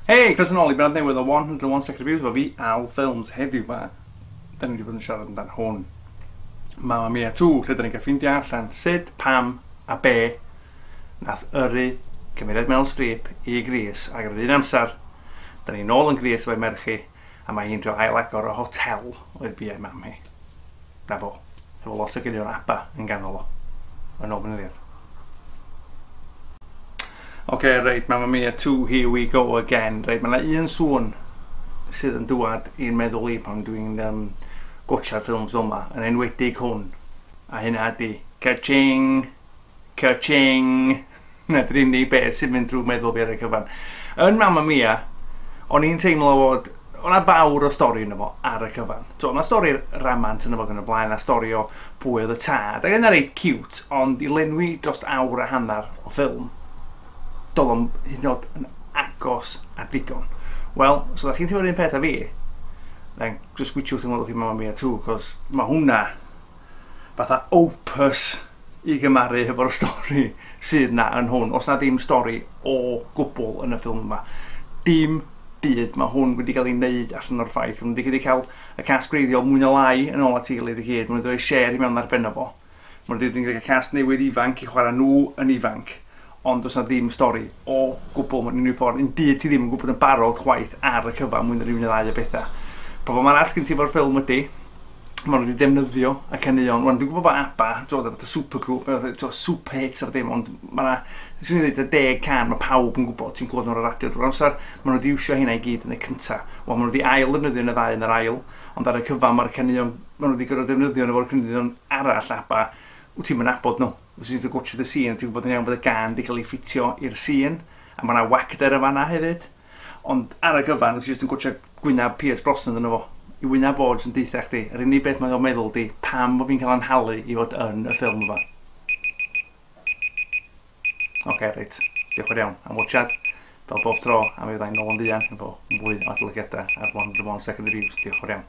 Hei, croeso nôl i benod newydd o 101 Second Reviews efo fi, Al Films. Heddiw ma, da ni wedi bod yn siarad amdan hwn. Mamma Mia 2, lle da ni'n cael ffeindio allan sut, pam a be nath yrru cymeriad Meryl Streep i Greece, ac ar yr un amser, da ni nôl yn Greece efo'i merch hi, a mae hi'n trio ail-agor y hotel oedd biau mam hi. Na fo. Efo lot o ganeuon ABBA yn ganol o. Yn ôl fy Oce, okay, reit, Mamma Mia 2, here we go again. Reit, mae yna un sŵn sydd yn dŵad i'n meddwl i pan dwi'n gwatsia'r ffilms fel yma, yn enwedig hwn. A hynna ydy, ka-ching, ka-ching. Na, dy'r unig beth sy'n mynd drwy meddwl fi ar y cyfan. Yn Mamma Mia, o'n i'n teimlo fod o'na fawr o stori yno fo ar y cyfan. So, o'na stori ramant yno fo gan y blaen, a stori o pwy oedd y tad. Ac yna reit cute, ond i lenwi dros awr a hanner o ffilm, doedd o'm hyd yn oed yn agos at ddigon. Wel, os ydych chi'n teimlo'r un peth a fi, then just gwitiwch yn weld chi Mamma Mia 2, cos mae hwnna fatha opus i gymaru hefo'r stori sydd na yn hwn. Os na ddim stori o gwbl yn y ffilm yma. Dim byd. Mae hwn wedi cael ei wneud allan o'r ffaith. Mae wedi cael y cast gwreiddiol mwy na lai yn ôl at ei gilydd i gyd. Mae wedi rhoi Cher i mewn ar ben o fo. Mae wedi cael cast newydd ifanc i chwarae nhw yn ifanc. Ond does na ddim stori o gwbl mewn unrhyw ffordd. Un byd ti ddim yn gwybod yn barod chwaith ar y cyfan mwy na rhywun neu ddau o bethau. Problem arall gen ti efo'r ffilm ydy, maen nhw wedi defnyddio y caneuon. Wan, dwi'n gwybod bod ABBA, dwi'n fatha supergroup, fatha super hits a dim, ond mae yna, swn i'n dweud, y 10 cân, mae pawb yn gwybod, ti'n clywed nhw'n ar y radio drwy'r amser, maen nhw wedi iwsio hynna i gyd yn y cynta. Wel, maen nhw wedi ail ddefnyddio yn y ddau yn yr ail, ond ar y cyfan mae'r caneuon, maen nhw wedi gorfod defnyddio nhw efo'r caneuon arall ABBA, wyt ti'n nabod nhw. Wyt ti'n gwatchio y scene, ti'n gwybod yn iawn bod y gân wedi cael ei ffitio i'r scene, a mae yna wacder yn fanna hefyd. Ond ar y cyfan, wyt ti jyst yn gwatchio gwynab Pierce Brosnan yno fo. I wynab o jyst yn deutha chdi, yr unig beth mae'n meddwl di, pam bod fi'n cael anhalu i fod yn y ffilm yma. Oce, okay, reit. Diolch yn fawr iawn am watchad. Fel bob tro, a mi fyddai'n nôl yn fuan efo mwy o adolygiadau ar 101 Second Reviews. Diolch yn fawr iawn.